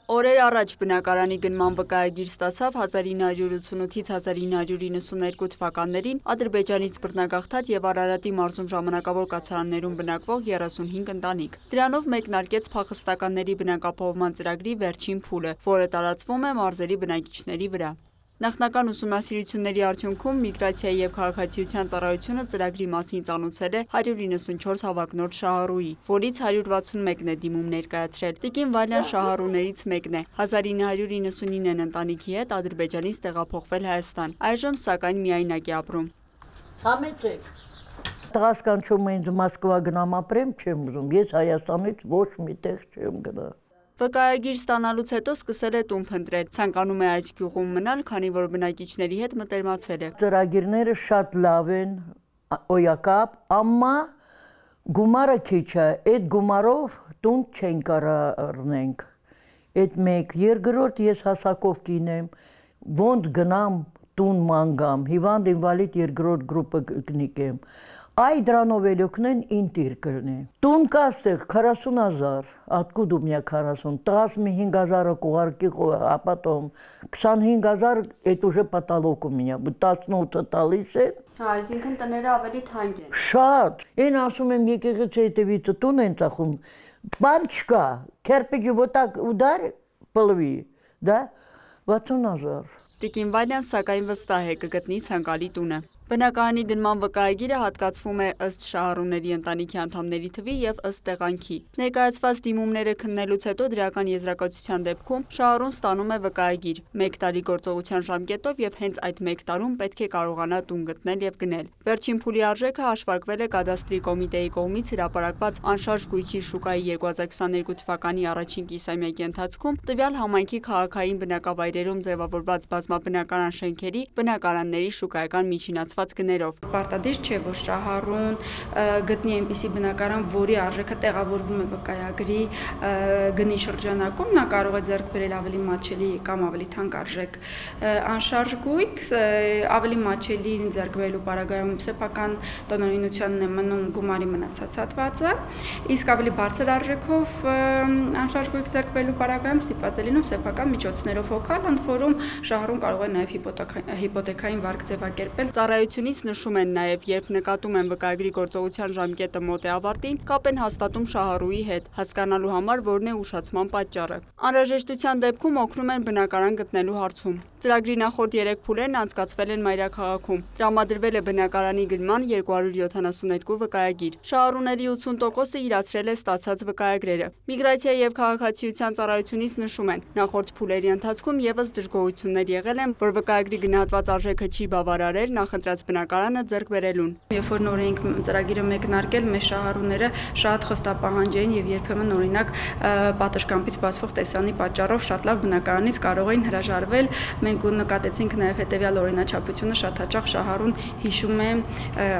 Օրեր առաջ բնակարանի գնման վկայագիր ստացավ 1988-ից 1992 թվականներին Ադրբեջանից բռնագաղթած եւ Արարատի մարզում ժամանակավոր կացարաններում բնակվող 35 ընտանիք։ Դրանով մեկնարկեց փախստականների բնակապահովման ծրագրի վերջին փուլը, որը տարածվում է մարզերի բնակիչների վրա։ Նախնական ուսումնասիրությունների արդյունքում միգրացիայի եւ քաղաքացիության ծառայությունը ծրագրի մասին ծանուցել է 194 հավակնոտ շահառուի, որից 161-ն է դիմում ներկայացրել։ Տիկին Վալյան շահառուներից մեկն է։ 1999 ընտանիքի հետ Ադրբեջանից տեղափոխվել Հայաստան։ Այժմ սակայն միայնակ է ապրում։ Ցամեցեք։ Տղաս կանչում ինձ Մոսկվա գնամ ապրեմ, չեմ ուզում։ Ես Հայաստանից ոչ մի տեղ չեմ գնա։ Վկայագիր ստանալուց հետո սկսել է տուն փնտրել, ցանկանում է այս գյուղում մնալ, քանի որ բնակիչների հետ մտերմացել է։ Ծրագիրները շատ լավ են, օյակապ, ամմա գումարը քիչ է, այդ գումարով տուն չեն կարող առնենք։ Այդ մեկ, երկրորդ ես հասակով կինեմ, ոնց գնամ տուն մանգամ, հիվանդ ինվալիդ երկրորդ գրուպը կնիկեմ։ Այ դրանով էլոքնեն ինտիր կրնի։ Տուն կաստեղ 40,000, откуда у меня 40, տղաս մի 5,000-ը կուղարկի ապատում, 25,000 это уже потолок у меня, 18-ը տալիս է։ Այսինքն տները ավելի թանկ են։ Շատ, այն ասում եմ եկեղեցի հետևից տուն են ծախում, բան չկա, կերպիջը вот так удар полови, да, 60,000։ Տիկին Վալյան սակայն վստահ է կգտնի ցանկալի տունը։ Բնակարանի գնման վկայագիրը հատկացվում է ըստ շահառուների ընտանիքի անդամների թվի եւ ըստ տեղանքի։ Ներկայացված դիմումները քննելուց հետո դրական եզրակացության դեպքում շահառուն ստանում է վկայագիր 1 տարի գործողության ժամկետով եւ հենց այդ 1 տարում պետք է կարողանա տուն գտնել եւ գնել։ Վերջին փուլի արժեքը հաշվարկվել է կադաստրի կոմիտեի կողմից հրապարակված անշարժ գույքի շուկայի 2022 թվականի առաջին կիսամյակի ընթացքում տվյալ համայնքի քաղաքային բնակավայրերում ձևավորված բազմաբնակարան շենքերի բնակարանների շուկայական միջինացված գներով։ Պարտադիր չէ, որ շահառուն գտնի այնպիսի բնակարան, որի արժեքը տեղավորվում է վկայագրի գնի շրջանակում, նա կարող է ձեռք բերել ավելի մատչելի կամ ավելի թանկարժեք անշարժ գույք, ավելի մատչելի ձեռք բերելու պարագայում սեփական տնօրինությանն է մնում գումարի մնացած հատվածը, իսկ ավելի բարձր արժեքով անշարժ գույք ձեռք բերելու պարագայում ստիպված է լինում սեփական միջոցներով հոգալ, ընդ որում շահառուն կարող է նաև հիպոթեքային վարկ ձևակերպել։ Ծառայությունից նշում են նաև, երբ նկատում են վկայագրի գործողության ժամկետը մոտ է ավարտին, կապ են հաստատում շահառուի հետ, հասկանալու համար որն է ուշացման պատճառը։ Անհրաժեշտության դեպքում օգնում են բնակարան գտնելու հարցում։ Ծրագրի նախորդ 3 փուլերն անցկացվել են մայրաքաղաքում։ Տրամադրվել է բնակարանի գնման 272 վկայագիր։ Շահառուների 80%-ը իրացրել է ստացած վկայագրերը։ Միգրացիայի եւ քաղաքացիության ծառայությունից նշում են, նախորդ փուլերի ընթացքում եւս դժգոհություններ եղել են, որ վկայագրի գնահատված արժեքը չի բավարարել նախընտրած բնակարանը ձեռք բերելուն։ Երբ որ նոր էինք ծրագիրը մեկնարկել, մեր շահառուները շատ խստապահանջ էին եւ երբեմն օրինակ պատշգամբից բացվող տեսանի պատճառով շատ լավ բնակարանից կարող էին հրաժարվել։ Մենք նկատեցինք նաեւ հետեւյալ օրինաչափությունը, շատ հաճախ շահառուն հիշում է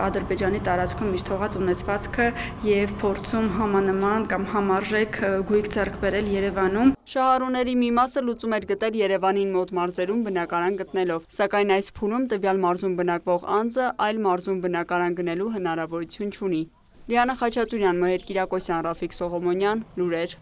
Ադրբեջանի տարածքում իր թողած ունեցվածքը եւ փորձում համանման կամ համարժեք գույք ձեռք բերել Երևանում։ Շահառուների մի մասը լուծում էր գտել Երևանին մոտ մարզերում բնակարան գտնելով, սակայն այս փուլում տվյալ մարզում բնակվող անձը այլ մարզում բնակարան գնելու հնարավորություն չունի։ Լիանա Խաչատուրյան, Մհեր Կիրակոսյան, Ռաֆիկ Սողոմոնյան, լուրեր։